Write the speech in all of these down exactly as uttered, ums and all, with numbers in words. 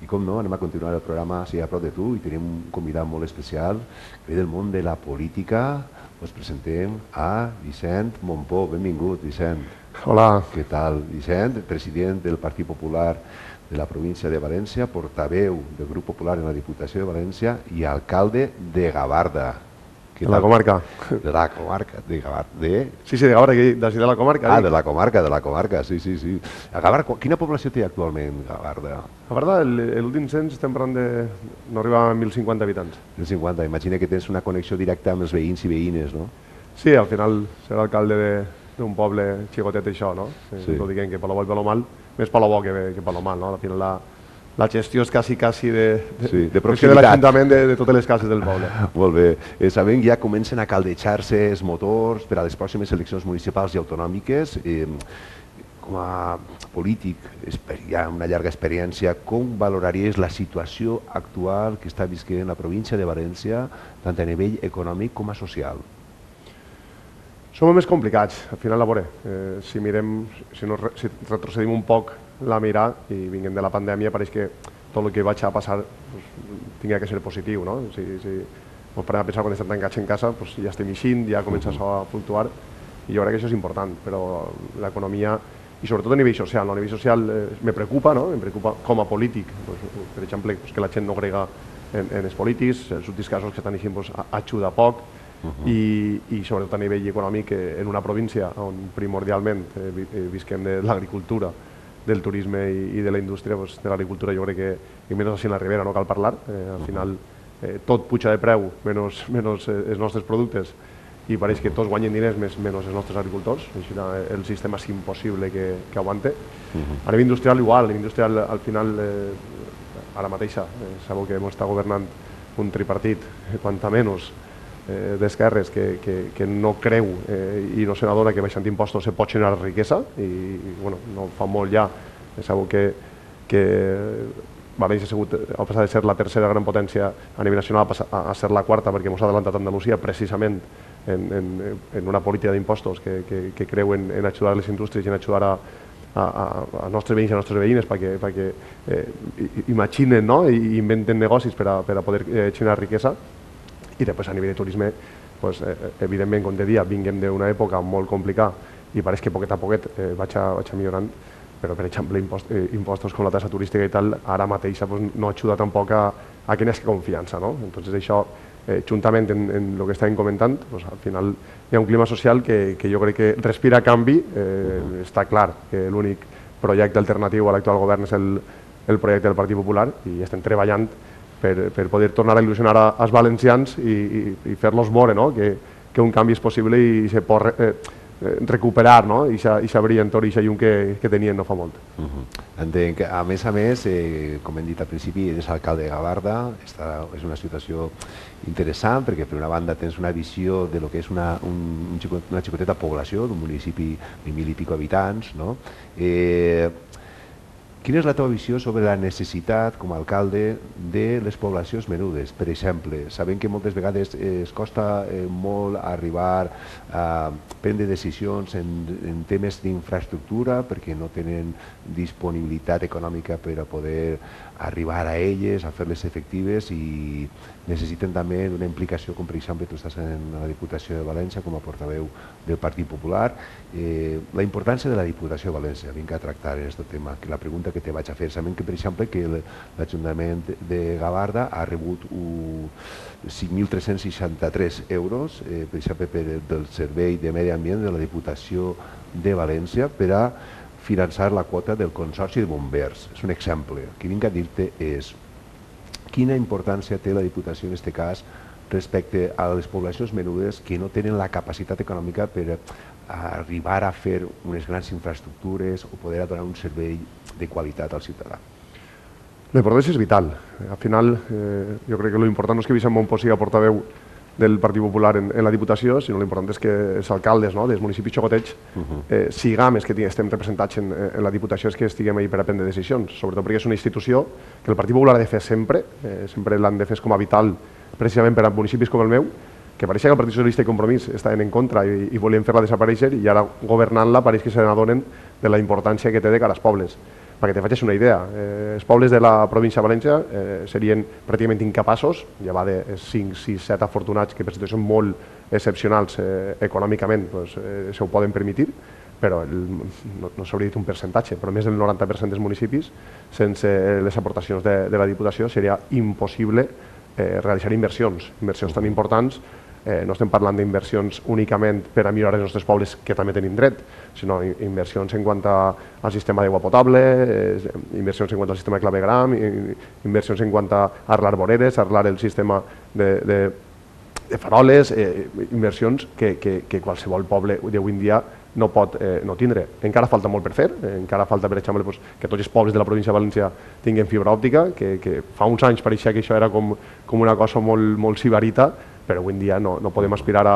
I com no, anem a continuar el programa així a prop de tu i tenim un convidat molt especial que ve del món de la política. Us presentem a Vicent Mompó. Benvingut, Vicent. Hola. Què tal, Vicent? President del Partit Popular de la província de València, portaveu del Grup Popular en la Diputació de València i alcalde de Gavarda. De la comarca. De la comarca, de Gavarda. De... Sí, sí, de Gavarda, de la comarca. Ah, de la comarca, de la comarca, sí, sí, sí. A Gavarda, quina població té actualment Gavarda? Gavarda, l'últim cens estem parlant de... no arriba a mil cinquanta habitants. mil cinquanta, imagina que tens una connexió directa amb els veïns i veïnes, no? Sí, al final ser alcalde d'un poble xicotet això, no? Sí. Tot diguem que per lo bo i per lo mal, més per lo bo que, que per lo mal, no? Al final la... La gestió és quasi, quasi de, de, sí, de proximitat. De l'Ajuntament de, de totes les cases del poble. Molt bé. Eh, sabem que ja comencen a caldejar-se els motors per a les pròximes eleccions municipals i autonòmiques. Eh, com a polític, hi ha una llarga experiència, com valoraries la situació actual que està visquent la província de València, tant a nivell econòmic com a social? Som més complicats, al final, a veure, eh, si mirem, si, no, si retrocedim un poc la mirar i vinguem de la pandèmia, pareix que tot el que vaig a passar pues, tingui que ser positiu, no? Si, si ens parem a pensar quan estem tancats en casa, pues, ja estem eixint, ja comença això a fluctuar, i jo crec que això és important, però l'economia, i sobretot a nivell social, no? A nivell social eh, me preocupa, no? Em preocupa com a polític, pues, per exemple, pues, que la gent no crega en, en els polítics, els últims casos que estan eixint pues, ajuda poc, Uh -huh. I, i sobretot a nivell econòmic en una província on primordialment eh, visquem de l'agricultura, del turisme i, i de la indústria, pues, de l'agricultura jo crec que, i menys així en la Ribera, no cal parlar, eh, al final eh, tot puja de preu, menys, menys eh, els nostres productes, i pareix que tots guanyen diners més menys els nostres agricultors, així el sistema és impossible que, que aguante. Uh -huh. A nivell industrial igual, a nivell industrial al final, eh, ara mateixa, eh, sabeu que ens està governant un tripartit, eh, quanta menys, Eh, d'esquerres que, que, que no creu eh, i no se n'adona que baixant impostos se pot generar riquesa i, i bueno, no fa molt ja sabeu que, que València ha, sigut, ha passat de ser la tercera gran potència a nivell nacional a, a ser la quarta perquè ens ha adelantat Andalusia precisament en, en, en una política d'impostos que, que, que creu en, en ajudar les indústries i en ajudar a a, a, a nostres veïns i a nostres veïnes perquè, perquè eh, imaginen, no? I inventen negocis per a, per a poder eh, generar riquesa. I després a nivell de turisme, pues, eh, evidentment, com te dia, vinguem d'una època molt complicada i pareix que poquet a poquet eh, vaig, a, vaig a millorant, però per exemple impost, eh, impostos com la tassa turística i tal, ara mateixa pues, no ajuda tampoc a, a que n'és confiança, no? Entonces això, eh, juntament en, en el que estàvem comentant, pues, al final hi ha un clima social que, que jo crec que respira canvi, eh, està clar que l'únic projecte alternatiu a l'actual govern és el, el projecte del Partit Popular i estem treballant Per, per poder tornar a il·lusionar als valencians i, i, i fer-los veure, no? que, que un canvi és possible i se pot eh, recuperar, no? I aquesta brillantor i aquesta llum que, que tenien no fa molt. Uh -huh. Entenc que, a més a més, eh, com hem dit al principi, és alcalde de Gavarda, està, és una situació interessant perquè per una banda tens una visió de lo que és una, un, una xicoteta població d'un municipi de mil i pico habitants, no? Eh, Quina és la teva visió sobre la necessitat, com a alcalde, de les poblacions menudes? Per exemple, sabem que moltes vegades es costa eh, molt arribar a prendre decisions en, en temes d'infraestructura perquè no tenen disponibilitat econòmica per a poder arribar a elles, a fer-les efectives i necessiten també una implicació, com per exemple tu estàs en la Diputació de València com a portaveu del Partit Popular. Eh, la importància de la Diputació de València, vinc a tractar en aquest tema, que la pregunta que te vaig a fer, sabem que per exemple que l'Ajuntament de Gavarda ha rebut cinc mil tres-cents seixanta-tres euros, eh, per exemple per, del Servei de Medi Ambient de la Diputació de València per a finançar la quota del Consorci de Bombers. És un exemple. El que vinc a dir-te és quina importància té la Diputació en aquest cas respecte a les poblacions menudes que no tenen la capacitat econòmica per arribar a fer unes grans infraestructures o poder donar un servei de qualitat al ciutadà. La importància és vital. Al final, eh, jo crec que l'important no és que Vicent Mompó sigui portaveu del Partit Popular en, en la Diputació, sinó l'important és que els alcaldes, no?, dels municipis xocotets uh -huh. eh, siguem els que estem representats en, en la Diputació, és que estiguem ahí per a prendre decisions, sobretot perquè és una institució que el Partit Popular ha de fer sempre, eh, sempre l'han de fer com a vital, precisament per a municipis com el meu, que pareix que el Partit Socialista i Compromís estaven en contra i, i volien fer-la desaparèixer i ara governant-la pareix que se n'adonen de la importància que té de cara als pobles. perquè te facis una idea, eh, els pobles de la província de València eh, serien pràcticament incapaços, ja va de cinc, sis, set afortunats que per situacions molt excepcionals eh, econòmicament pues, eh, se ho poden permetre, però el, no, no s'hauria dit un percentatge, però més del noranta per cent dels municipis, sense les aportacions de, de la Diputació, seria impossible eh, realitzar inversions, inversions tan importants. Eh, no estem parlant d'inversions únicament per a millorar els nostres pobles, que també tenim dret, sinó inversions en quant al sistema d'aigua potable, eh, inversions en quant al sistema de clavegram, inversions en quant a arreglar voreres, arreglar el sistema de, de, de faroles, eh, inversions que, que, que qualsevol poble d'avui en dia no pot eh, no tindre. Encara falta molt per fer, eh, encara falta, per exemple, pues, que tots els pobles de la província de València tinguin fibra òptica, que, que fa uns anys pareixia que això era com, com una cosa molt, molt sibarita, però avui en dia no, no podem aspirar a,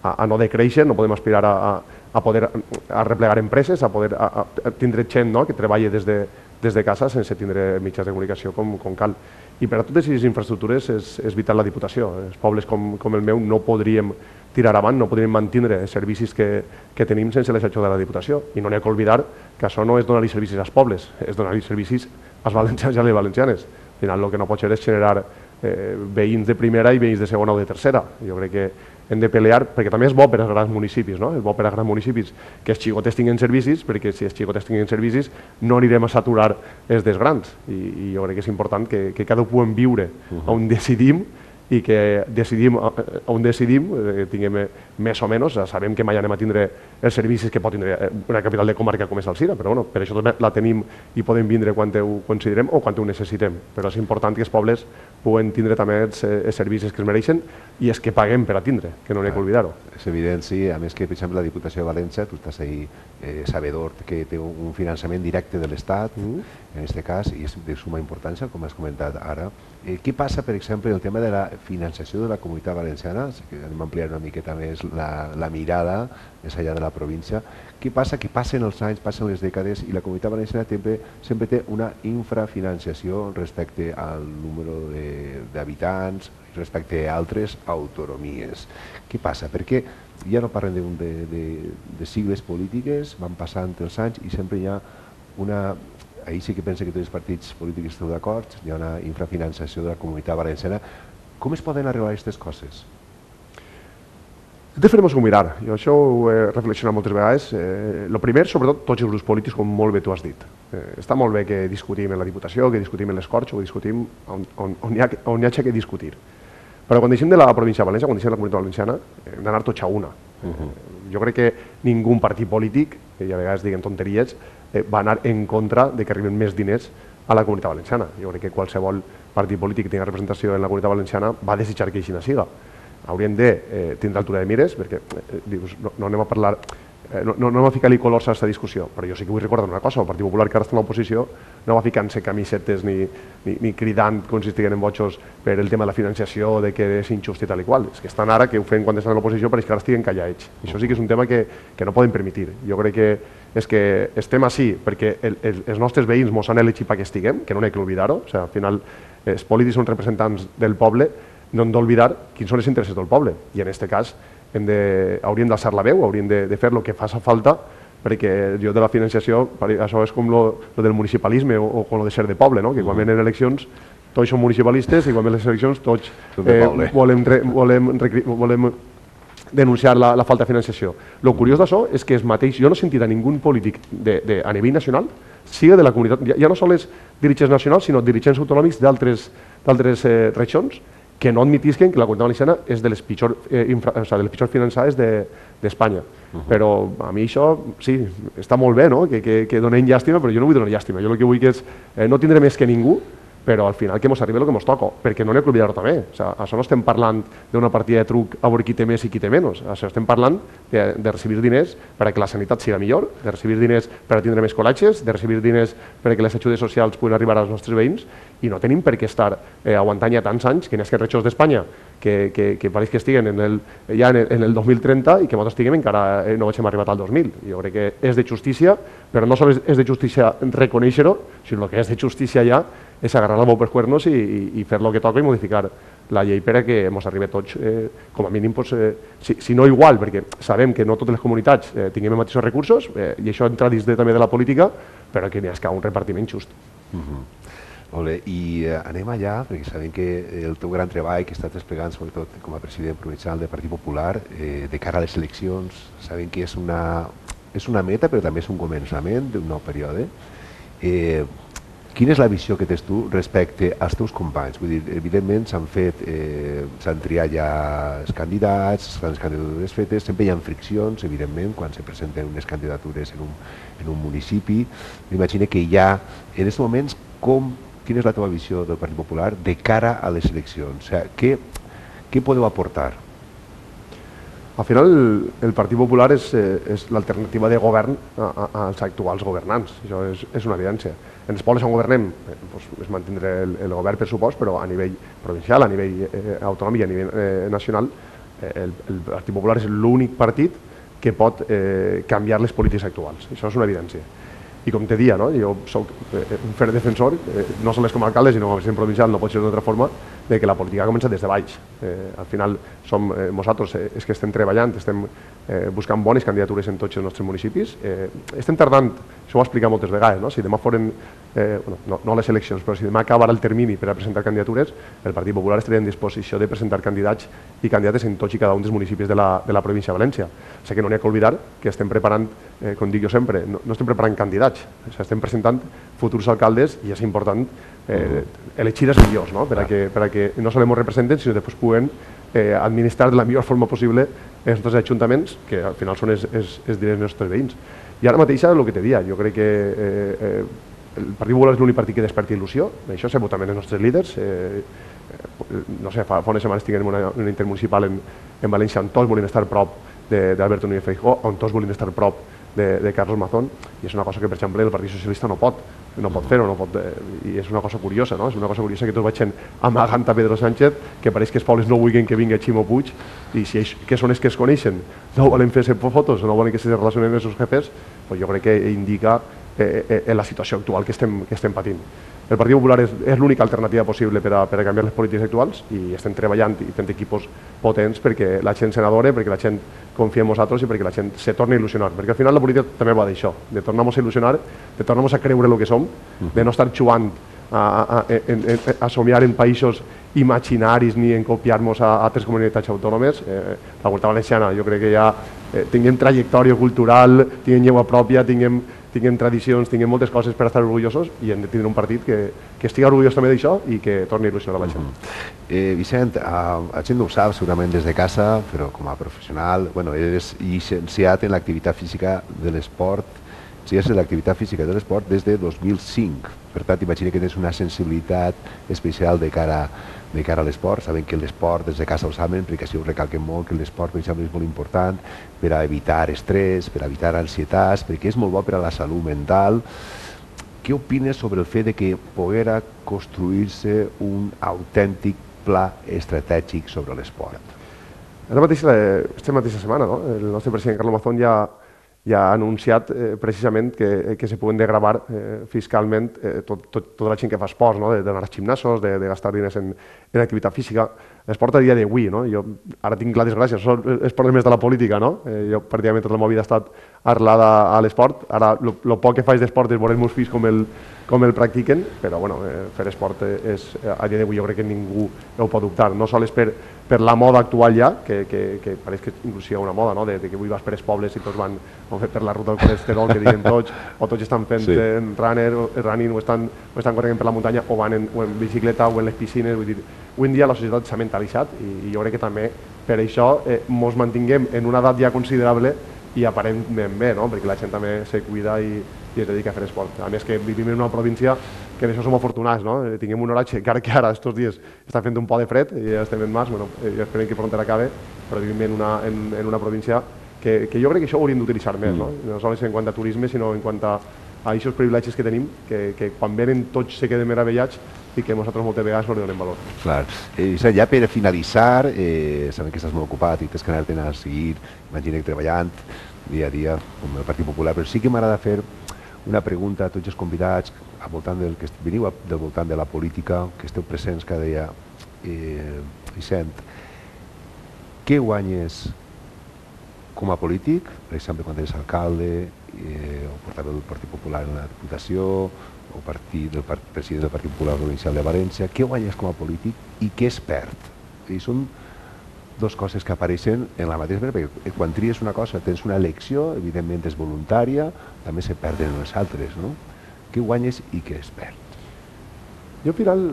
a, a no decréixer, no podem aspirar a, a, a poder a replegar empreses, a poder a, a tindre gent, no?, que treballi des de, des de casa sense tindre mitjans de comunicació com, com cal. I per a totes aquestes infraestructures és, és vital la Diputació. Els pobles com, com el meu no podríem tirar avant, no podríem mantenir els servicis que, que tenim sense l'ajuda de la Diputació. I no n'hi ha que oblidar que això no és donar-li servicis als pobles, és donar-li servicis als valencians i a les valencianes. Al final el que no pot ser és generar eh, veïns de primera i veïns de segona o de tercera. Jo crec que hem de pelear, perquè també és bo per als grans municipis, no? És bo per als grans municipis que els xicotes tinguin servicis, perquè si els xicotes tinguin servicis no anirem a saturar els dels grans. I, i jo crec que és important que, que cada un puguem viure uh -huh. on decidim i que decidim on decidim, eh, tinguem més o menys, sabem que mai anem a tindre els servicis que pot tindre una capital de comarca com és Alzira, però bueno, per això també la tenim i podem vindre quan ho considerem o quan ho necessitem. Però és important que els pobles puguen tindre també els, els servicis que es mereixen i els que paguem per a tindre, que no n'hi ha que oblidar-ho. És evident, sí. A més que, per exemple, la Diputació de València, tu estàs ahí eh, sabedor que té un finançament directe de l'Estat, mm. en aquest cas, i és de suma importància, com has comentat ara. Eh, què passa, per exemple, en el tema de la financiació de la Comunitat Valenciana? Sí que anem a ampliar una miqueta més la, la mirada més enllà de la província. Què passa? Que passen els anys, passen les dècades i la Comunitat Valenciana sempre, sempre té una infrafinanciació respecte al número d'habitants, respecte a altres autonomies. Què passa? Perquè ja no parlem de, de, de, de sigles polítiques, van passant els anys i sempre hi ha una... Ahir sí que penso que tots els partits polítics esteu d'acord, hi ha una infrafinanciació de la Comunitat Valenciana. Com es poden arribar a aquestes coses? De fer-nos-ho mirar. Jo això ho he reflexionat moltes vegades. Eh, lo primer, sobretot, tots els grups polítics, com molt bé tu has dit. Eh, està molt bé que discutim en la Diputació, que discutim en les Corts, o que discutim on, on, on, hi ha, on hi ha que discutir. Però quan deixem de la província de València, quan deixem de la Comunitat Valenciana, hem d'anar tots a una. Uh -huh. Jo crec que ningú partit polític, que a vegades diguen tonteries, eh, va anar en contra de que arriben més diners a la Comunitat Valenciana. Jo crec que qualsevol partit polític que tingui representació en la Comunitat Valenciana va desitjar que així no siga. Haurien de eh, tindre altura de mires, perquè eh, dius, no, no anem a parlar... Eh, no, no, no va ficar-li colors a aquesta discussió, però jo sí que vull recordar una cosa, el Partit Popular, que ara està en l'oposició, no va ficant-se camisetes ni, ni, ni cridant com si estiguin en botxos per el tema de la financiació, de que és injust i tal i qual. És que estan ara, que ho feien quan estan a l'oposició, però és que ara estiguen callats. I això sí que és un tema que, que no poden permetre. Jo crec que és que estem així perquè el, el, els nostres veïns ens han elegit perquè estiguem, que no n'hi ha que oblidar-ho. O sigui, al final, els polítics són representants del poble, no hem d'oblidar quins són els interessos del poble. I en aquest cas hem de, hauríem d'alçar la veu, hauríem de, de fer el que faci falta, perquè jo de la financiació, això és com lo, lo del municipalisme o, o com lo de ser de poble, no? Que quan venen eleccions tots són municipalistes i quan venen les eleccions tots eh, volem, re, volem, volem denunciar la, la falta de financiació. El curiós d'això és que és mateix, jo no he sentit a ningú polític de, de, a nivell nacional, siga de la comunitat, ja, ja no són els dirigents nacionals, sinó dirigents autonòmics d'altres eh, regions, que no admitisquen que la Comunitat Valenciana és de les pitjors, eh, infra, o sigui, de les pitjors finançades d'Espanya. De, uh -huh. Però a mi això, sí, està molt bé, no? que, que, que donem llàstima, però jo no vull donar llàstima. Jo el que vull que és eh, no tindre més que ningú, però al final que ens arribi el que ens toca, perquè no n'hi ha que oblidar-ho també. O sigui, això no estem parlant d'una partida de truc a veure qui té més i qui té menys. Això estem parlant de, de recibir diners per a que la sanitat siga millor, de recibir diners per a tindre més col·letges, de recibir diners per a que les ajudes socials puguin arribar als nostres veïns, i no tenim per què estar eh, aguantant ja tants anys que n'hi ha que regions d'Espanya que, que, que pareix que estiguen en el, ja en el, en el dos mil trenta i que nosaltres estiguem encara eh, no vaig arribat al dos mil. Jo crec que és de justícia, però no sols és de justícia reconèixer-ho, sinó que és de justícia ja és agarrar el bou per cuernos i, i, i fer el que toca i modificar la llei per a que ens arribi tots, eh, com a mínim, pues, eh, si, si no igual, perquè sabem que no totes les comunitats eh, tinguem els mateixos recursos, eh, i això entra dins de, també de la política, però que n'hi ha un repartiment just. Uh-huh. Molt bé, i eh, anem allà, perquè sabem que el teu gran treball que estàs desplegant, sobretot com a president provincial del Partit Popular, eh, de cara a les eleccions, sabem que és una, és una meta, però també és un començament d'un nou període. Eh, quina és la visió que tens tu respecte als teus companys? Vull dir, evidentment s'han fet, eh, s'han triat ja els candidats, les candidatures fetes, sempre hi ha friccions, evidentment, quan se presenten unes candidatures en un, en un municipi. M'imagino que hi ha, en aquests moments, com quina és la teva visió del Partit Popular de cara a les eleccions? O sigui, què, què podeu aportar? Al final, el, el Partit Popular és, eh, és l'alternativa de govern a, a, als actuals governants. Això és, és una evidència. En els pobles on governem eh, doncs, es mantindrà el, el govern per supost, però a nivell provincial, a nivell eh, autonòmic i a nivell eh, nacional, eh, el, el Partit Popular és l'únic partit que pot eh, canviar les polítiques actuals. Això és una evidència. I com te dia, no? Jo soc un fer defensor, eh, no només com a alcalde, sinó com a president provincial, no pot ser d'una altra forma, de que la política comença des de baix. Eh, al final som eh, nosaltres eh, és que estem treballant, estem eh, buscant bones candidatures en tots els nostres municipis. Eh, estem tardant, això ho he explicat moltes vegades, no? Si demà foren, eh, bueno, no, no les eleccions, però si demà acabara el termini per a presentar candidatures, el Partit Popular estaria en disposició de presentar candidats i candidates en tots i cada un dels municipis de la, de la província de València. O sigui que no n'hi ha que oblidar que estem preparant, eh, com dic jo sempre, no, no estem preparant candidats, o sigui, estem presentant futurs alcaldes i és important eh, elegir els millors, no? Per a que, per a que no solament ens representen, sinó que després puguen eh, administrar de la millor forma possible els nostres ajuntaments, que al final són els, els, els dels nostres veïns. I ara mateix el que te dia, jo crec que eh, eh, el Partit Popular és l'únic partit que desperta il·lusió, això s'ha votat també els nostres líders, eh, eh, no sé, fa, fa unes setmanes tinguem una, una intermunicipal en, en València on tots volien estar prop d'Alberto Núñez Feijóo, on tots volien estar prop de, de Carlos Mazón, i és una cosa que, per exemple, el Partit Socialista no pot, no pot fer-ho, no pot, i és una cosa curiosa, no? És una cosa curiosa que tots vagin amagant a Pedro Sánchez, que pareix que els pobles no vulguin que vinga Ximo Puig, i si ells, que són els que es coneixen, no volen fer-se fotos, no volen que se relacionen amb els seus jefes, doncs jo crec que indica eh, eh, la situació actual que estem, que estem patint. El Partit Popular és, és l'única alternativa possible per a, per a canviar les polítiques actuals i estem treballant i fent equipos potents perquè la gent se n'adore, perquè la gent confia en nosaltres i perquè la gent se torni a il·lusionar. Perquè al final la política també va d'això, de tornar-nos a il·lusionar, de tornar-nos a creure el que som, de no estar jugant a, a, a, a, a somiar en països imaginaris ni en copiar-nos a altres comunitats autònomes. Eh, la Comunitat Valenciana, jo crec que ja eh, tinguem trajectòria cultural, tinguem llengua pròpia, tinguem tinguem tradicions, tinguem moltes coses per estar orgullosos i hem de tindre un partit que, que estigui orgullós també d'això i que torni a il·lusionar la gent. Uh -huh. eh, Vicent, uh, la gent no ho sap segurament des de casa, però com a professional, bueno, eres llicenciat en l'activitat física de l'esport, ciències de l'activitat física de l'esport des de dos mil cinc. Per tant, imagina que tens una sensibilitat especial de cara, de cara a l'esport. Saben que l'esport, des de casa ho saben, perquè així ho recalquen molt, que l'esport, per exemple, és molt important per a evitar estrès, per a evitar ansietats, perquè és molt bo per a la salut mental. Què opines sobre el fet de que poguera construir-se un autèntic pla estratègic sobre l'esport? Ara mateix, aquesta mateixa setmana, no? El nostre president Carlos Mazón ja ja ha anunciat eh, precisament que, que se puguen degravar eh, fiscalment eh, tot, tot, tota la gent que fa esports, no? d'anar als gimnasos, de, de gastar diners en, en activitat física. L'esport a dia d'avui, no? Jo ara tinc la desgràcia, són els problemes de la política, no? Eh, jo pràcticament tota la meva vida ha estat arrelada a l'esport. Ara, el poc que faig d'esport és veure els meus fills com el, com el practiquen, però bueno, eh, fer esport és, a dia d'avui jo crec que ningú ho pot dubtar, no sols per, per la moda actual ja, que, que, que pareix que inclús hi ha una moda, no? de, de que avui vas per els pobles i tots van per la ruta del colesterol, que diuen tots, o tots estan fent sí. en runner, running, o estan, o estan corrent per la muntanya, o van en, o en bicicleta, o en les piscines. Vull dir, avui en dia la societat s'ha mentalitzat i, i jo crec que també per això eh, mos mantinguem en una edat ja considerable i aparentment bé, no? Perquè la gent també se cuida i, i es dedica a fer esport. A més que vivim en una província que d'això som afortunats, no? Tinguem un horatge, encara que ara estos dies està fent un po de fred i ja estem en març, bueno, ja esperem que prompte acabe, però vivim en una, en, en una província que, que jo crec que això ho hauríem d'utilitzar més, no? No només en quant a turisme, sinó en quant a, a aquests privilegis que tenim, que, que quan venen tots se queden meravellats i que nosaltres moltes vegades no li donem valor. Clar. Eh, ja per finalitzar, eh, sabem que estàs molt ocupat i tens que anar-te'n a seguir, imagina que treballant dia a dia com el Partit Popular, però sí que m'agrada fer una pregunta a tots els convidats al voltant del que veniu del voltant de la política, que esteu presents cada dia, eh, Vicent, què guanyes com a polític, per exemple, quan eres alcalde eh, o portaveu del Partit Popular en la Diputació o partit, del part, president del Partit Popular Provincial de València, què guanyes com a polític i què es perd? I són dues coses que apareixen en la mateixa manera, perquè quan tries una cosa tens una elecció, evidentment és voluntària, també se perden els altres, no? Què guanyes i què es perd? Jo al final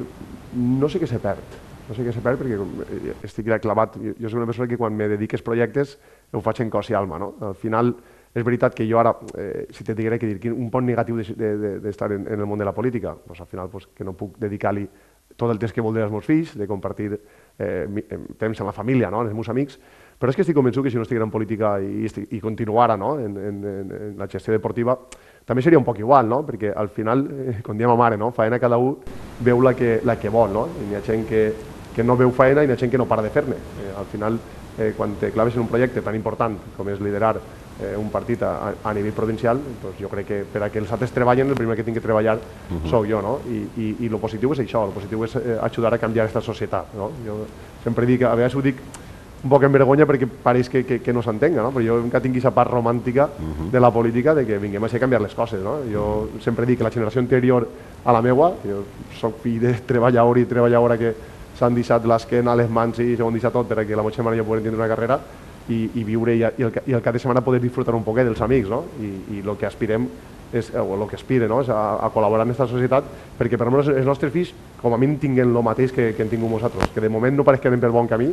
no sé què se perd, no sé què se perd perquè estic clavat. Jo soc una persona que quan me dediques projectes ho faig en cos i alma, no? Al final és veritat que jo ara, eh, si te diguera que dir un punt negatiu d'estar de, de, en, en el món de la política, doncs al final pues, que no puc dedicar-li tot el temps que voldré als meus fills, de compartir eh, temps amb la família, no? Amb els meus amics, però és que estic convençut que si no estiguera en política i, i continuara, no? en, en, en la gestió deportiva, també seria un poc igual, no? Perquè al final, eh, com diem a mare, no? Faena cada un veu la que, la que vol, no? I hi ha gent que, que no veu faena i hi ha gent que no para de fer-ne. Eh, al final, eh, quan te claves en un projecte tan important com és liderar eh, un partit a, a nivell provincial, doncs jo crec que per a que els altres treballen, el primer que tinc que treballar uh -huh. sóc jo, no? I, i, i lo positiu és això, lo positiu és eh, ajudar a canviar aquesta societat, no? Jo sempre dic, a vegades ho dic un poc en vergonya perquè pareix que, que, que no s'entenga, no? Però jo encara tinc aquesta part romàntica uh -huh. de la política de que vinguem a canviar les coses, no? Jo sempre dic que la generació anterior a la meua, jo soc fill de treballador i treballadora que s'han deixat l'esquena, les mans i s'ho han deixat tot perquè la meva germana i jo poguem tindre una carrera i, i viure i, i, el, i el cap de setmana poder disfrutar un poquet dels amics, no? I, i el que aspirem és, o el que aspire, no? És a, a col·laborar en aquesta societat perquè per almenys els nostres fills com a mínim tinguen el mateix que, que hem tingut nosaltres, que de moment no pareix que anem pel bon camí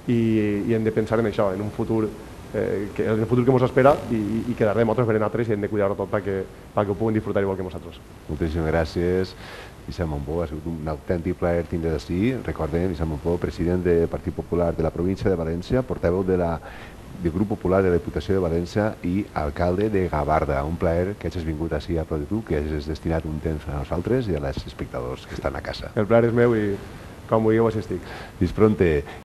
i, i hem de pensar en això, en un futur eh, que en el futur que ens espera i, i quedar de nosaltres per nosaltres i hem de cuidar-ho tot perquè, perquè ho puguin disfrutar igual que nosaltres. Moltíssimes gràcies, Vicent Montbó, ha sigut un autèntic plaer tindre d'ací. Recordem, Vicent Montbó, president del Partit Popular de la província de València, portaveu de la del Grup Popular de la Diputació de València i alcalde de Gavarda. Un plaer que hagis vingut així a prop de tu, que hagis destinat un temps a nosaltres i als espectadors que estan a casa. El plaer és meu i com vulgueu així estic. Fins pronte.